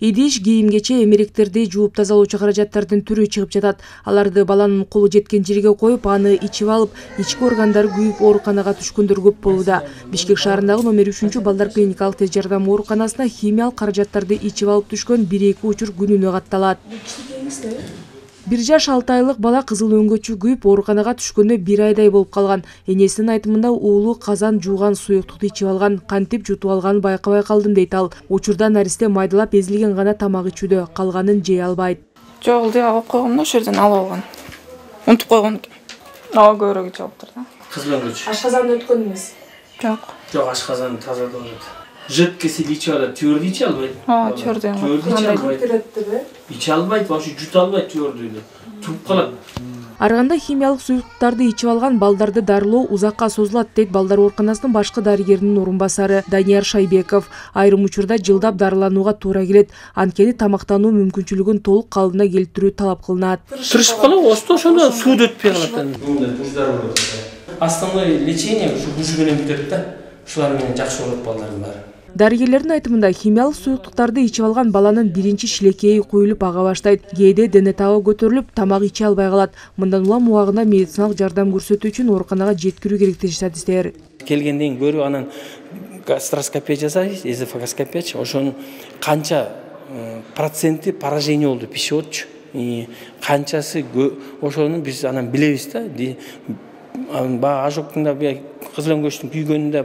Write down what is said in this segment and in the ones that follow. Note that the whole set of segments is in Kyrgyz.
Идиш, кийим-кече, эмеректерди жууп тазалоочу каражаттардын түрү чыгып жатат. Аларды баланын колу жеткен жерге коюп, аны ичип алып, ички органдары күйүп ооруканага түшкөндөр көп болууда. Бишкек шаарындагы номер 3 балдар клиникалык тез жардам ооруканасына химиялык каражаттарды ичип алып түшкөн 1-2 учур күнүнө катталат. 1 жаш 6 айлык бала кызыл өңгөчү күйүп ооруканага түшкөнүнө 1 айдай болуп калган. Энесинин айтымында уулу казан жууган суюктукту ичип алган, кантип жутуп алганын байкабай калдым дейт ал. Учурда наристе майдалап эзилген гана тамак ичүүдө, калганын жей албайт. Жок, деп алып койгом да, ошол жерден алып алган. Унутуп койгон экен. Аба көбүрөөк ичип алыптыр да. Кызыл өңгөч. Ашказанды өткөн эмес. Жок. Жок, ашказанды тазалап алат. Жидкость ичип алат, твердый иче албайт. Твердый. Иче албайт, вообще жута албайт твердыйды. Туруп калат. Арганда химиялык суюктуктарды ичип алган балдарды дарылоо узакка созулат, дейт балдар ооруканасынын башкы дарыгеринин орун басары Данияр Шайбеков. Айрым учурда жылдап дарыланууга туура келет. Анткени тамактануу мүмкүнчүлүгүн толук калыбына келтирүү талап кылынат. Тырышып калат, ошондо суу өтпөй калат. Основное лечение ушу менен бүтөт да. Ушулар менен жакшы болот балдардын баары. Дарыгерлердин айтымында химиялык суюктуктарды ичип алган баланын биринчи шилекейи куюлуп ага баштайт. Кээде дене табы көтөрүлүп, тамак иче албай калат. Мындан улам убагында медициналык жардам көрсөтүү үчүн ооруканага жеткирүү керек дейт статисттер. Келгенден көрүп анан гастроскопия жасайбыз, эзофагоскопия. Ошонун канча проценти поражение болду пищеводчу. Канчасы ошону биз анан билебиз да. Ожогтун да кызыл өңгөчтүн күйгөнүндө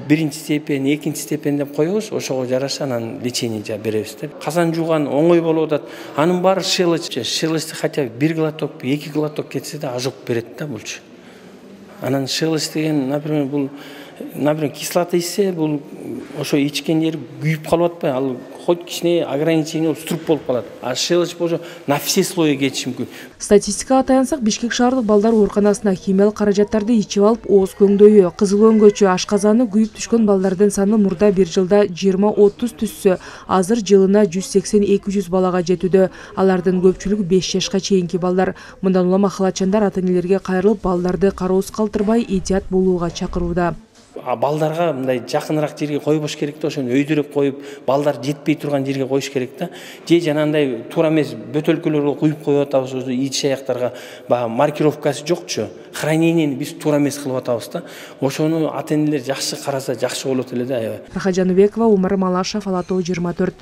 1-чи степень, 2-чи степень деп коебуз, ошого жараша анан лечение беребиз да. Казан жууган оңой болуп атат. Анын баары шелоч, шелочти хотя бы 1 глоток, 2 глоток кетсе да ожог берет да булчу. Анан шелоч деген, например, бул кислота ичсе, бул ошо ичкен жери күйүп калып атпайбы? Ал хоть кичине ограничение болуп струп болуп калат. А шелоч болсо на все слои кетиши мүмкүн. Статистикага таянсак, Бишкек шаардык балдар ооруканасына химиялык каражаттарды ичип алып, ооз көңдөйү, кызыл өңгөчү, ашказаны күйүп түшкөн балдардын саны мурда 1 жылда 20-30 түшсө, азыр жылына 180-200 балага жетүүдө. Алардын көпчүлүгү 5 жашка чейинки балдар. Мындан улам ахалатчандар ата-энелерге кайрылып, балдарды кароосуз калтырбай этият болууга чакырууда. Балдарга мындай жакыныраак жерге койбош керек да, ошону өйдөрөп коюп, балдар жетпей турган жерге коюш керек да. Же жанагындай туура эмес бөтөлкөлөргө куюп коюп атабыз, ич аяктарга маркировкасы жокчу. Хранениени биз туура эмес кылып атабыз да. Ошону ата-энелер жакшы караса жакшы болот эле да. Рахат Жаныбекова, Умар Малашев, Ала Тоо 24.